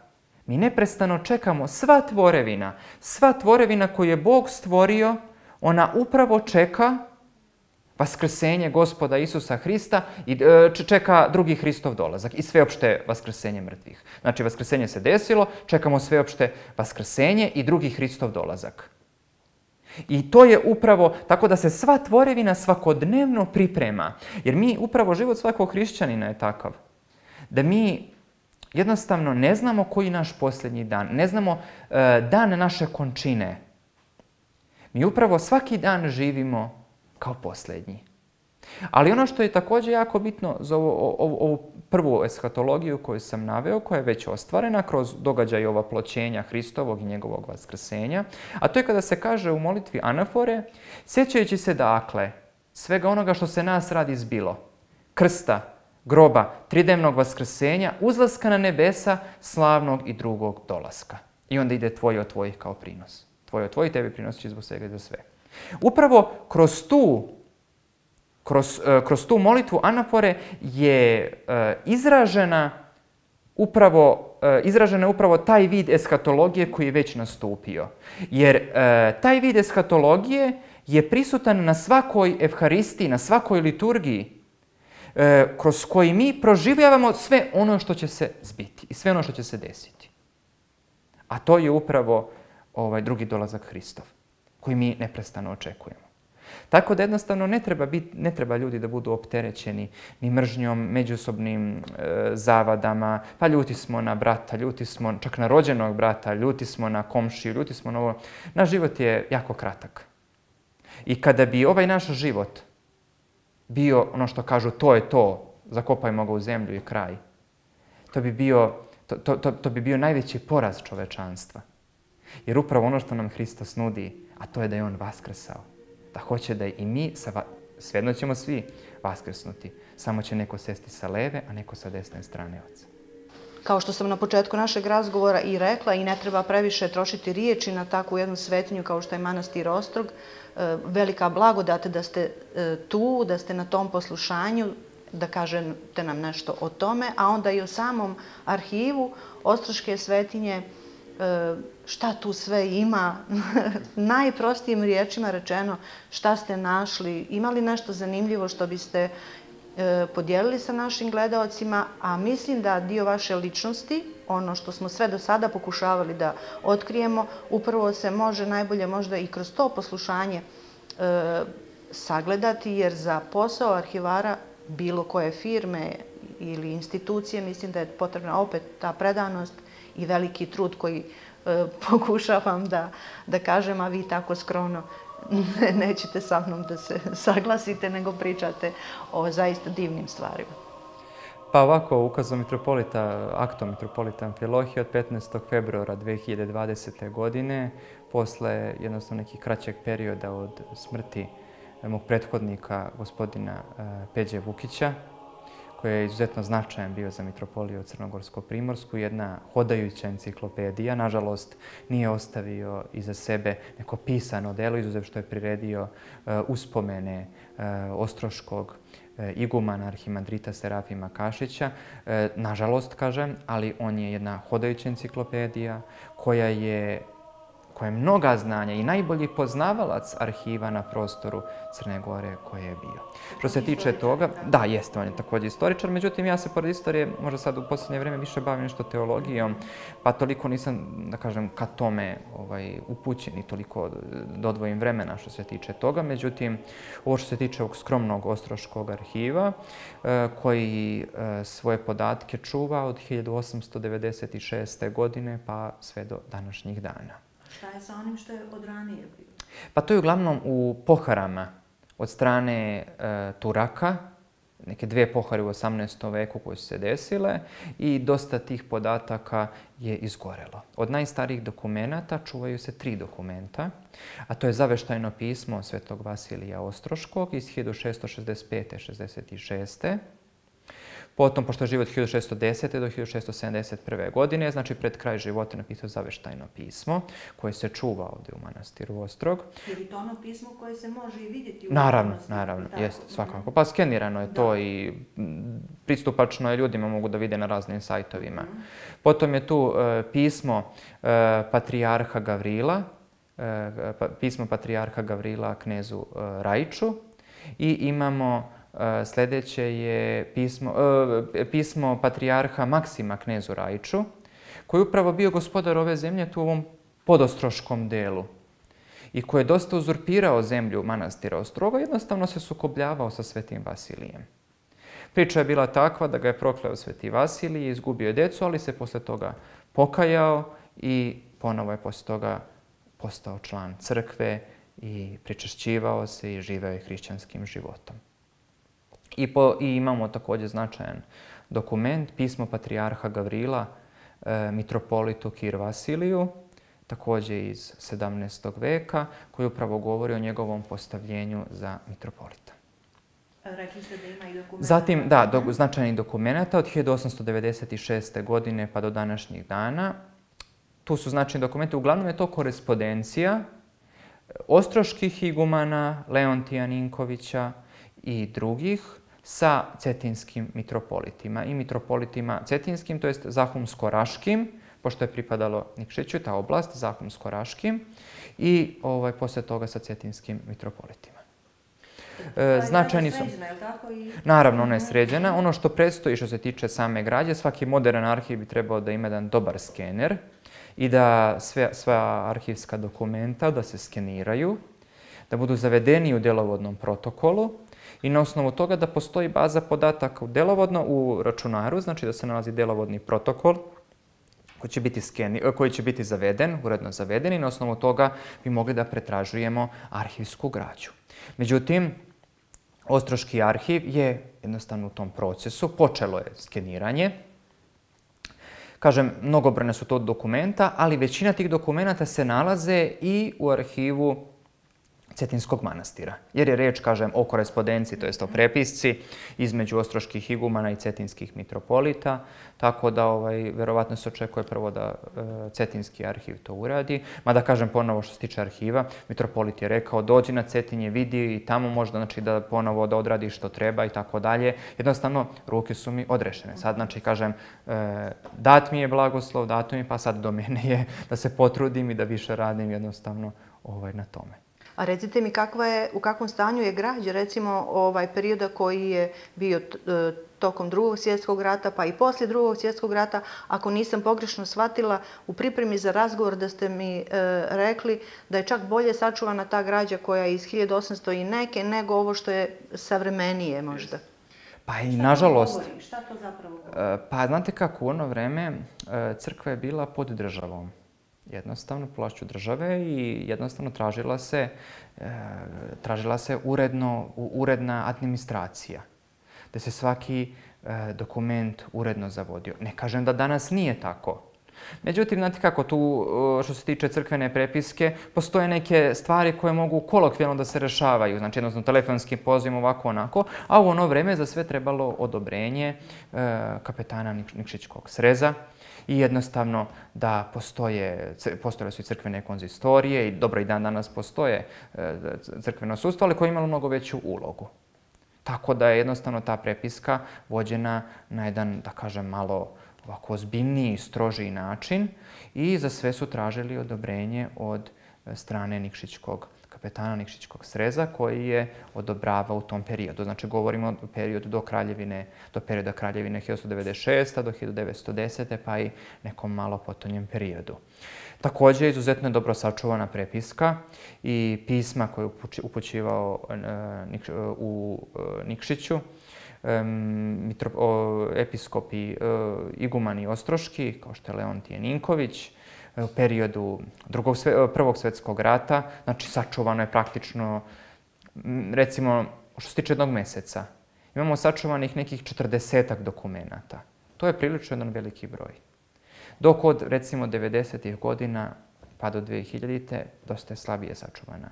Speaker 2: Mi neprestano čekamo, sva tvorevina, sva tvorevina koju je Bog stvorio, ona upravo čeka vaskrsenje Gospoda Isusa Hrista i čeka drugi Hristov dolazak i sveopšte vaskrsenje mrtvih. Znači, vaskrsenje se desilo, čekamo sveopšte vaskrsenje i drugi Hristov dolazak. I to je upravo tako da se sva tvorevina svakodnevno priprema. Jer mi, upravo život svakog hrišćanina je takav. Da mi jednostavno ne znamo koji je naš posljednji dan. Ne znamo uh, dan naše končine. Mi upravo svaki dan živimo kao posljednji. Ali ono što je također jako bitno za ovu, ovu, ovu prvu eshatologiju koju sam naveo, koja je već ostvarena kroz događaj ovaploćenja Hristovog i njegovog vaskrsenja, a to je kada se kaže u molitvi anafore, sjećajući se dakle svega onoga što se nas radi zbilo, krsta, groba, tridnevnog vaskrsenja, uzlaska na nebesa, slavnog i drugog dolaska. I onda ide tvoj od tvojih kao prinos. Tvoj od tvojih tebi prinos će zbog svega i za sve. Upravo kroz tu, kroz, kroz tu molitvu anafore je izražena upravo, izražena upravo taj vid eshatologije koji je već nastupio. Jer taj vid eshatologije je prisutan na svakoj evharistiji, na svakoj liturgiji, kroz koji mi proživljavamo sve ono što će se zbiti i sve ono što će se desiti. A to je upravo ovaj drugi dolazak Hristov, koji mi neprestano očekujemo. Tako da jednostavno ne treba, biti, ne treba ljudi da budu opterećeni ni mržnjom, međusobnim e, zavadama, pa ljuti smo na brata, ljuti smo čak na rođenog brata, ljuti smo na komšiju, ljuti smo na ovo. Naš život je jako kratak. I kada bi ovaj naš život bio ono što kažu to je to, zakopajmo ga u zemlju i kraj, to bi bio, to, to, to, to bi bio najveći poraz čovečanstva. Jer upravo ono što nam Hristos nudi, a to je da je on vaskrsao. Da hoće da i mi, svejedno ćemo svi vaskrsnuti. Samo će neko sesti sa leve, a neko sa desne strane Oca.
Speaker 1: Kao što sam na početku našeg razgovora i rekla, i ne treba previše trošiti riječi na takvu jednu svetinju kao što je manastir Ostrog, velika blagodat da ste tu, da ste na tom poslušanju, da kažete nam nešto o tome, a onda i o samom arhivu Ostroške svetinje, šta tu sve ima, najprostijim riječima rečeno, šta ste našli, imali nešto zanimljivo što biste podijelili sa našim gledaocima, a mislim da dio vaše ličnosti, ono što smo sve do sada pokušavali da otkrijemo, upravo se može najbolje možda i kroz to poslušanje e, sagledati, jer za posao arhivara bilo koje firme ili institucije mislim da je potrebna opet ta predanost i veliki trud koji e, pokušavam da, da kažem, a vi tako skromno nećete sa mnom da se saglasite, nego pričate o zaista divnim stvarima.
Speaker 2: Pa ovako, ukazom mitropolita, aktom mitropolita Amfilohija od petnaestog februara dve hiljade dvadesete. godine, posle jednostavno nekih kraćeg perioda od smrti mog prethodnika, gospodina Peđe Vukića, koji je izuzetno značajan bio za mitropoliju Crnogorsko-Primorsku, jedna hodajuća enciklopedija. Nažalost, nije ostavio iza sebe neko pisano delo, izuzev što je priredio uh, uspomene uh, ostroškog uh, igumana arhimandrita Serafima Kašića. Uh, nažalost, kažem, ali on je jedna hodajuća enciklopedija koja je koja je mnoga znanja i najbolji poznavalac arhiva na prostoru Crne Gore koje je bio. Što se tiče toga, da, jeste, on je također istoričar, međutim ja se pored istorije možda sad u posljednje vrijeme više bavim nešto teologijom, pa toliko nisam, da kažem, ka tome ovaj, upućen i toliko dodvojim vremena što se tiče toga. Međutim, ovo što se tiče ovog skromnog ostroškog arhiva, koji svoje podatke čuva od hiljadu osamsto devedeset šeste. godine pa sve do današnjih dana.
Speaker 1: Šta je sa onim što je od ranije bilo?
Speaker 2: Pa to je uglavnom u poharama od strane e, Turaka, neke dvije pohare u osamnaestom veku koje su se desile i dosta tih podataka je izgorelo. Od najstarijih dokumenata čuvaju se tri dokumenta, a to je zaveštajno pismo Svetog Vasilija Ostroškog iz hiljadu šesto šezdeset pete. šezdeset šeste. Potom, pošto je život hiljadu šessto desete. do hiljadu šessto sedamdeset prve. godine, znači pred kraj života napisao zaveštajno pismo koje se čuva ovdje u manastiru Ostrog.
Speaker 1: Je li to ono pismo koje se može i vidjeti u
Speaker 2: Naravno,
Speaker 1: manastiru?
Speaker 2: naravno, jeste, svakako. Pa skenirano je to i pristupačno je, ljudima mogu da vide na raznim sajtovima. Potom je tu pismo patrijarha Gavrila, pismo patrijarha Gavrila knezu Rajču i imamo sljedeće je pismo, pismo patrijarha Maksima knezu Rajču, koji je upravo bio gospodar ove zemlje tu u ovom podostroškom delu i koji je dosta uzurpirao zemlju manastira Ostroga, jednostavno se sukobljavao sa svetim Vasilijem. Priča je bila takva da ga je prokleo sveti Vasilij i izgubio je djecu, ali se posle toga pokajao i ponovo je posle toga postao član crkve i pričešćivao se i živeo je hrišćanskim životom. I, po, I imamo također značajan dokument, pismo patrijarha Gavrila e, mitropolitu Kir Vasiliju, također iz sedamnaestog veka, koji upravo govori o njegovom postavljenju za mitropolita.
Speaker 1: Rekli ste da ima i dokumenta.
Speaker 2: Zatim, da, do, značajnih dokumenta od hiljadu osamsto devedeset šeste. godine pa do današnjih dana. Tu su značajni dokumenti, uglavnom je to korespondencija ostroških igumana, Leontija Ninkovića i drugih sa cetinskim mitropolitima i mitropolitima cetinskim, to jest Zahumsko-Raškim, pošto je pripadalo Nikšiću, ta oblast, Zahumsko-Raškim, i ovaj, poslije toga sa cetinskim mitropolitima.
Speaker 1: E, značajni su... Sređena, je li tako? I...
Speaker 2: Naravno, ona je sređena. Ono što predstoji što se tiče same građe, svaki modern arhiv bi trebao da ima jedan dobar skener i da sve, sva arhivska dokumenta da se skeniraju, da budu zavedeni u delovodnom protokolu i na osnovu toga da postoji baza podataka u delovodno u računaru, znači da se nalazi delovodni protokol koji će biti, skeni, koji će biti zaveden, uredno zaveden i na osnovu toga bi mogli da pretražujemo arhivsku građu. Međutim, Ostroški arhiv je jednostavno u tom procesu, počelo je skeniranje. Kažem, mnogobrojne su to dokumenta, ali većina tih dokumenata se nalaze i u arhivu Cetinskog manastira. Jer je reč, kažem, o korespondenciji, to jest o prepisci između ostroških igumana i cetinskih mitropolita, tako da ovaj, verovatno se očekuje prvo da e, Cetinski arhiv to uradi. Mada, kažem ponovo što se tiče arhiva, mitropolit je rekao dođi na Cetinje, vidi i tamo možda znači, da ponovo da odradi što treba i tako dalje. Jednostavno, ruke su mi odrešene. Sad, znači, kažem, e, dat mi je blagoslov, dato mi, pa sad do mene je da se potrudim i da više radim jednostavno ovaj, na tome.
Speaker 1: A recite mi kakva je, u kakvom stanju je građa, recimo ovaj perioda koji je bio tokom drugog svjetskog rata, pa i poslije drugog svjetskog rata, ako nisam pogrešno shvatila, u pripremi za razgovor da ste mi e, rekli da je čak bolje sačuvana ta građa koja je iz hiljadu osamsto i neke, nego ovo što je savremenije možda.
Speaker 2: Pa i nažalost.
Speaker 1: Šta to govori? Šta to zapravo govori?
Speaker 2: Pa znate kako, u ono vreme crkva je bila pod državom. Jednostavno plašću države i jednostavno tražila se, e, tražila se uredno, uredna administracija, da se svaki e, dokument uredno zavodio. Ne kažem da danas nije tako. Međutim, znate kako, tu što se tiče crkvene prepiske, postoje neke stvari koje mogu kolokvijalno da se rešavaju, znači jednostavno telefonskim pozivom ovako onako, a u ono vreme za sve trebalo odobrenje e, kapetana Nikšićkog sreza, i jednostavno da postoje, postojale su i crkvene konzistorije i dobro i dan danas postoje crkveno sudstvo, ali koje je imalo mnogo veću ulogu. Tako da je jednostavno ta prepiska vođena na jedan, da kažem, malo ovako ozbiljniji, strožiji način i za sve su tražili odobrenje od strane Nikšićkog kapetana Nikšićkog sreza koji je odobravao u tom periodu. Znači, govorimo o periodu do kraljevine, do perioda kraljevine hiljadu osamsto devedeset šeste. do hiljadu devetsto desete. pa i nekom malo potonjem periodu. Također, izuzetno je dobro sačuvana prepiska i pisma koje je upućivao u Nikšiću, episkopi igumani ostroški, kao što je Leontije Ninković, u periodu drugog, prvog svjetskog rata, znači sačuvano je praktično, recimo, što se tiče jednog mjeseca, imamo sačuvanih nekih četrdesetak dokumenata. To je prilično jedan veliki broj. Dok od, recimo, devedesetih godina pa do dve hiljadite dosta je slabije sačuvana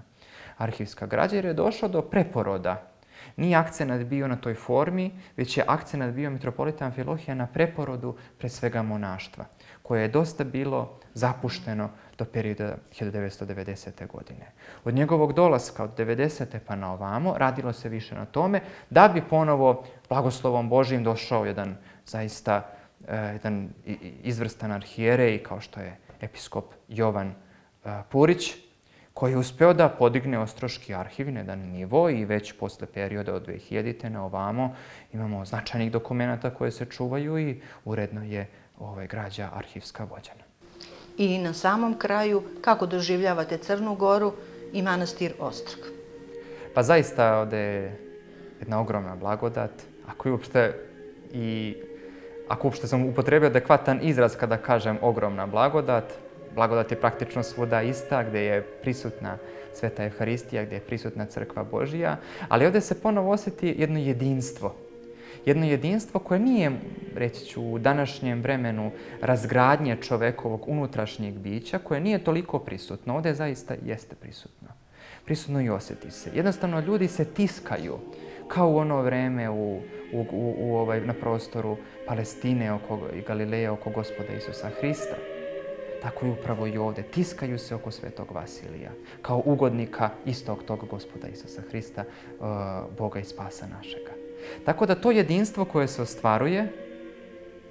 Speaker 2: arhivska građa jer je došlo do preporoda. Nije akcenat bio na toj formi, već je akcenat bio mitropolita Amfilohija na preporodu pre svega monaštva, koje je dosta bilo zapušteno do perioda hiljadu devetsto devedesete. godine. Od njegovog dolaska od devedesete pa na ovamo radilo se više na tome da bi ponovo blagoslovom Božijim došao jedan zaista eh, jedan izvrstan arhijerej kao što je episkop Jovan eh, Purić, koji je uspeo da podigne Ostroški arhiv na jedan nivo i već posle perioda od dve hiljadite. na ovamo imamo značajnih dokumenta koje se čuvaju i uredno je ovaj, građa arhivska vođena.
Speaker 1: I na samom kraju, kako doživljavate Crnu Goru i manastir Ostrog?
Speaker 2: Pa zaista ovde je jedna ogromna blagodat. Ako je uopšte i ako uopšte sam upotrebio adekvatan izraz kada kažem ogromna blagodat, blagodat je praktično svuda ista, gde je prisutna Sveta Evharistija, gde je prisutna Crkva Božija, ali ovde se ponovo osjeti jedno jedinstvo. Jedno jedinstvo koje nije, reći ću, u današnjem vremenu razgradnje čovekovog unutrašnjeg bića, koje nije toliko prisutno. Ovde zaista jeste prisutno. Prisutno i osjeti se. Jednostavno, ljudi se tiskaju, kao u ono vreme u, u, u, u ovaj, na prostoru Palestine oko, i Galileja oko Gospoda Isusa Hrista. Tako i upravo i ovde. Tiskaju se oko Svetog Vasilija, kao ugodnika istog tog Gospoda Isusa Hrista, uh, Boga i Spasa našega. Tako da to jedinstvo koje se ostvaruje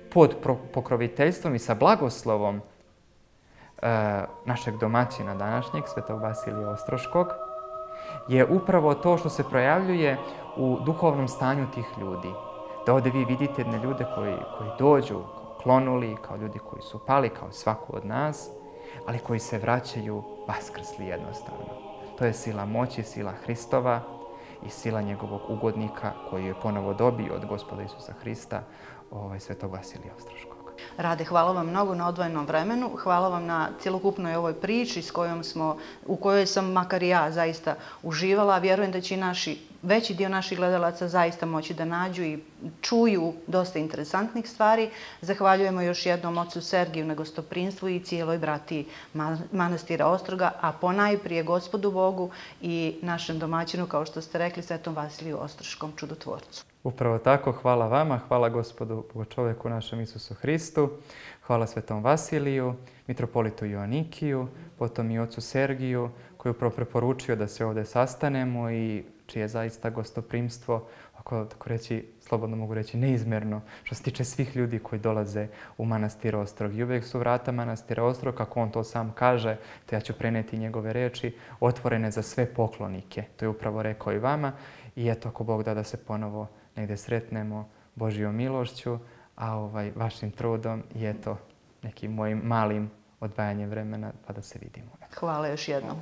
Speaker 2: pod pokroviteljstvom i sa blagoslovom uh, našeg domaćina današnjeg, Svetog Vasilija Ostroškog, je upravo to što se projavljuje u duhovnom stanju tih ljudi. Da ovde vi vidite jedne ljude koji, koji dođu klonuli, kao ljudi koji su pali, kao svako od nas, ali koji se vraćaju vaskrsli jednostavno. To je sila moći, sila Hristova i sila njegovog ugodnika koji je ponovo dobio od Gospoda Isusa Hrista, ovaj, Svetog Vasilija Ostroškog.
Speaker 1: Rade, hvala vam mnogo na odvojenom vremenu, hvala vam na cjelokupnoj ovoj priči s kojom smo, u kojoj sam makar i ja zaista uživala. Vjerujem da će i naši, veći dio naših gledalaca zaista moći da nađu i čuju dosta interesantnih stvari. Zahvaljujemo još jednom ocu Sergiju na gostoprinstvu i cijeloj bratiji manastira Ostroga, a ponajprije Gospodu Bogu i našem domaćinu, kao što ste rekli, Svetom Vasiliju Ostroškom čudotvorcu.
Speaker 2: Upravo tako, hvala vama, hvala Gospodu Bogočoveku našem Isusu Hristu, hvala Svetom Vasiliju, mitropolitu Joanikiju, potom i ocu Sergiju, koji je upravo preporučio da se ovdje sastanemo i čije zaista gostoprimstvo, ako tako reći, slobodno mogu reći, neizmjerno, što se tiče svih ljudi koji dolaze u manastir Ostrog. I uvijek su vrata manastira Ostrog, kako on to sam kaže, te ja ću preneti njegove reči, otvorene za sve poklonike. To je upravo rekao i vama. I eto, ako Bog da da se ponovo negdje sretnemo Božjom milošću, a ovaj, vašim trudom i eto nekim mojim malim odvajanjem vremena pa da se vidimo.
Speaker 1: Hvala još jednom.